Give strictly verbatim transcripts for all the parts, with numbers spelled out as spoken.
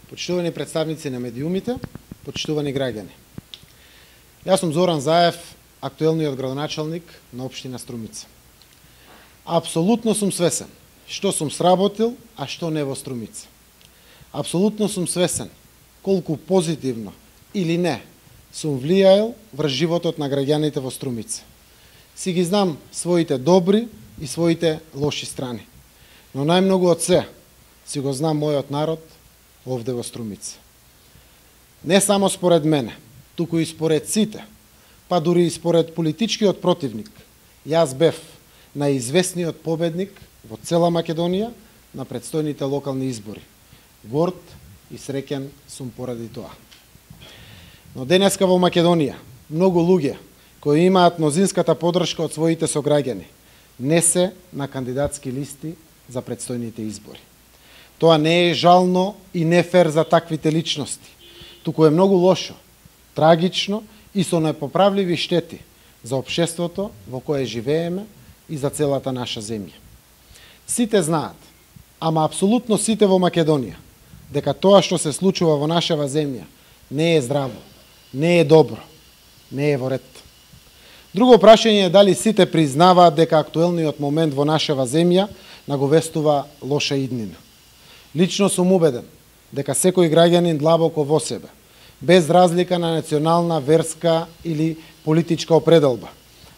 Почитувани представници на медиумите, почитувани граѓани. Јас сум Зоран Заев, актуелниот градоначалник на општина Струмица. Апсолутно сум свесен што сум сработил, а што не во Струмица. Апсолутно сум свесен колку позитивно или не сум влијаел врз животот на граѓаните во Струмица. Си ги знам своите добри и своите лоши страни. Но најмногу од се си го знам мојот народ овде во Струмица. Не само според мене, туку и според сите, па дури и според политичкиот противник, јас бев најизвестниот победник во цела Македонија на предстојните локални избори. Горд и среќен сум поради тоа. Но денеска во Македонија, многу луѓе кои имаат мнозинската подршка од своите сограѓани, не се на кандидатски листи за предстојните избори. Тоа не е жално и не фер за таквите личности, туку е многу лошо, трагично и со непоправливи штети за општеството во кое живееме и за целата наша земја. Сите знаат, ама апсолутно сите во Македонија, дека тоа што се случува во нашава земја не е здраво, не е добро, не е во ред. Друго прашање е дали сите признаваат дека актуелниот момент во нашава земја наговестува лоша иднина. Лично сум убеден дека секој граѓанин длабоко во себе, без разлика на национална, верска или политичка определба,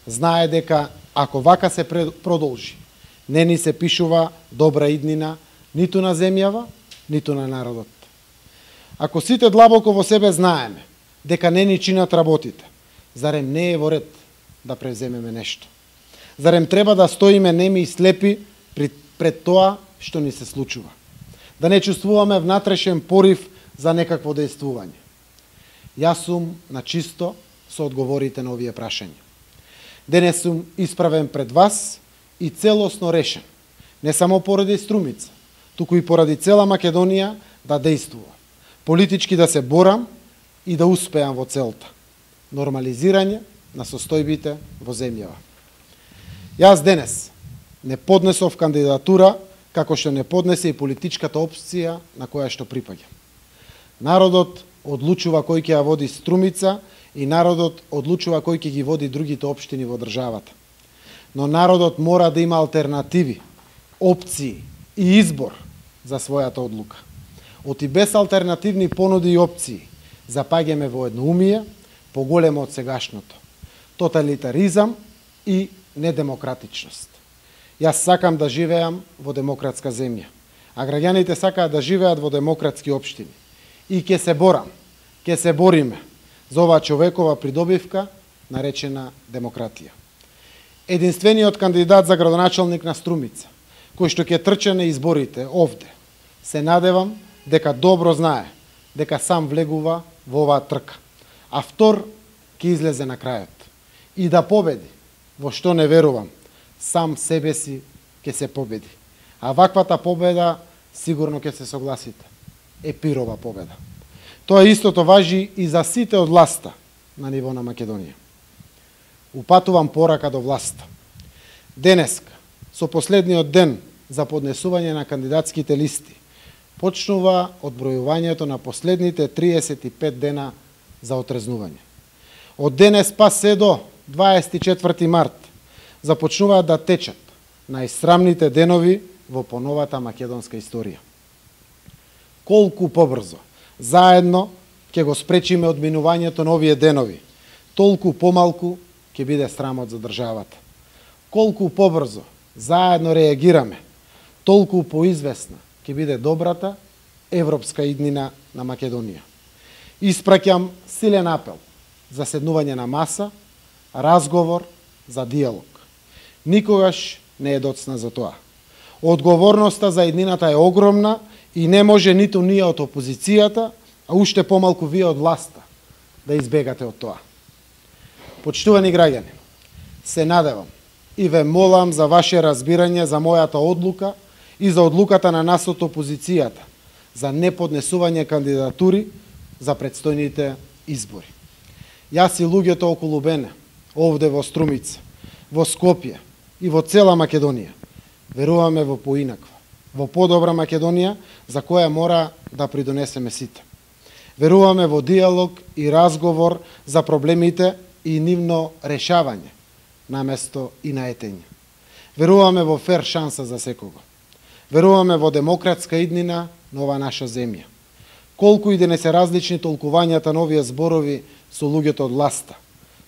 знае дека ако вака се продолжи, не ни се пишува добра иднина ниту на земјава, ниту на народот. Ако сите длабоко во себе знаеме дека не ни чинат работите, зарем не е во ред да превземеме нешто? Зарем треба да стоиме неми и слепи пред тоа што ни се случува? Да не чувствуваме внатрешен порив за некакво дејствување? Јас сум на чисто со одговорите на овие прашања. Денес сум исправен пред вас и целосно решен, не само поради Струмица, туку и поради цела Македонија да дејствува, политички да се борам и да успеам во целта – нормализирање на состојбите во земјава. Јас денес не поднесов кандидатура како што не поднесе и политичката опција на која што припаѓа. Народот одлучува кој ќе ја води Струмица и народот одлучува кој ќе ги води другите општини во државата. Но народот мора да има алтернативи, опции и избор за својата одлука. Оти без алтернативни понуди и опции запаѓаме во едноумие поголемо од сегашното – тоталитаризам и недемократичност. Јас сакам да живеам во демократска земја, а граѓаните сакаат да живеат во демократски општини. И ќе се борам, ќе се бориме за оваа човекова придобивка наречена демократија. Единствениот кандидат за градоначалник на Струмица, кој што ќе трче на изборите овде, се надевам дека добро знае дека сам влегува во оваа трка, а втор ќе излезе на крајот и да победи, во што не верувам, сам себе си ќе се победи. А ваквата победа, сигурно ќе се согласите, е пирова победа. Тоа истото важи и за сите од власта на ниво на Македонија. Упатувам порака до власта. Денеска, со последниот ден за поднесување на кандидатските листи, почнува одбројувањето на последните триесет и пет дена за отрезнување. Од денес па се до дваесет и четврти март започнуваат да течат најсрамните денови во поновата македонска историја. Колку побрзо заедно ќе го спречиме одминувањето на овие денови, толку помалку ќе биде срамот за државата. Колку побрзо заедно реагираме, толку поизвестна ќе биде добрата европска иднина на Македонија. Испраќам силен апел за седнување на маса, разговор, за диалог. Никогаш не е доцна за тоа. Одговорноста за иднината е огромна и не може ниту ние од опозицијата, а уште помалку вие од власта да избегате од тоа. Почитувани граѓани, се надевам и ве молам за ваше разбирање за мојата одлука и за одлуката на нас од опозицијата за неподнесување кандидатури за предстојните избори. Јас и луѓето околу мене, овде во Струмица, во Скопје и во цела Македонија, веруваме во поинаква, во подобра Македонија, за која мора да придонесеме сите. Веруваме во диалог и разговор за проблемите и нивно решавање, наместо и наетење. Веруваме во фер шанса за секого. Веруваме во демократска иднина на оваа наша земја. Колку и да не се различни толкувањата на овие зборови со луѓето од власта,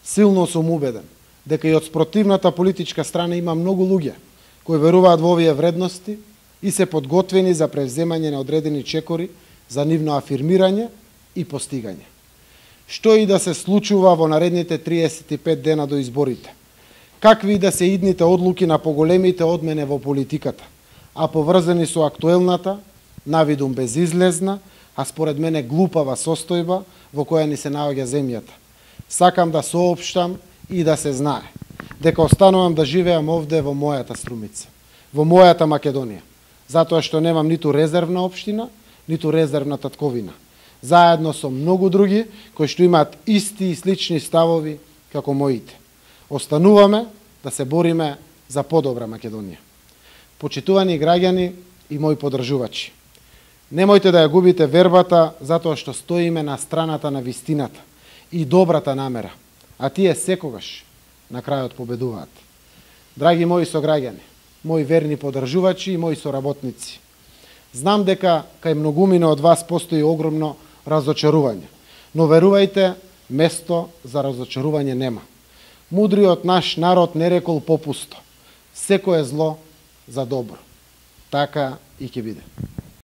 силно сум убеден дека и од спротивната политичка страна има многу луѓе кои веруваат во овие вредности и се подготвени за превземање на одредени чекори за нивно афирмирање и постигање. Што и да се случува во наредните триесет и пет дена до изборите, какви и да се идните одлуки на поголемите одмене во политиката, а поврзани со актуелната, навидум безизлезна, а според мене глупава состојба во која ни се наоѓа земјата. Сакам да соопштам и да се знае дека останувам да живеам овде во мојата Струмица, во мојата Македонија, затоа што немам ниту резервна општина, ниту резервна татковина, заедно со многу други кои што имаат исти и слични ставови како моите. Остануваме да се бориме за подобра Македонија. Почитувани граѓани и мои поддржувачи, немојте да ја губите вербата затоа што стоиме на страната на вистината и добрата намера, а тие секогаш на крајот победуваат. Драги мои сограѓани, мои верни поддржувачи и мои соработници, знам дека кај многумина од вас постои огромно разочарување, но верувајте, место за разочарување нема. Мудриот наш народ не рекол попусто: секое зло за добро. Така и ќе биде.